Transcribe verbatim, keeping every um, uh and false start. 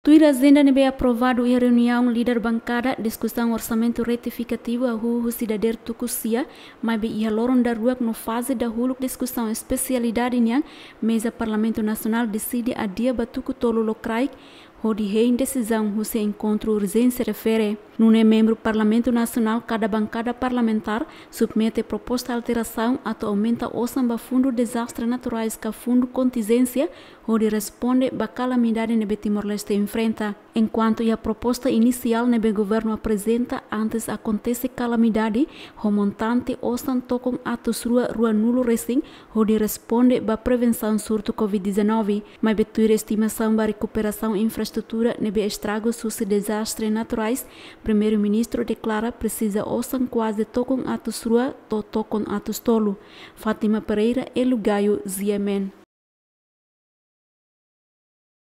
Tuir ajenda ne'ebé aprovadu iha reuniaun líder bankada, diskusaun orsamentu retifikativu hahú husi dadeer tuku sia, maibé iha loron daruak no faze dahuluk diskusaun espesialidade nian, meza Parlamentu Nasionál deside adia ba tuku tolu lokraik, hodi hein desizaun husi enkontru urjénsia refere. Nune'e membru Parlamentu Nasionál kada bankada parlamentár submete proposta alterasaun atu aumenta osan ba Fundu Dezastre Naturais ka Fundu Kontinjénsia, hodi responde ba kalamidade ne'ebé Timor-Leste enfrenta. Enkuantu iha proposta inisiál ne'ebé governu aprezenta antes akontese kalamidade, ho montante osan tokon atus rua ruanulu resin, hodi responde ba prevensaun surtu covid dezanove. Maibé tuir estimasaun ba rekuperasaun infraestrutura ne'ebé estragus husi dezastre naturais, Primeiru-Ministru deklara presiza osan kuaze tokon atus rua to'o tokon atus tolu. Fátima Pereira, Elo Gayo, G M N.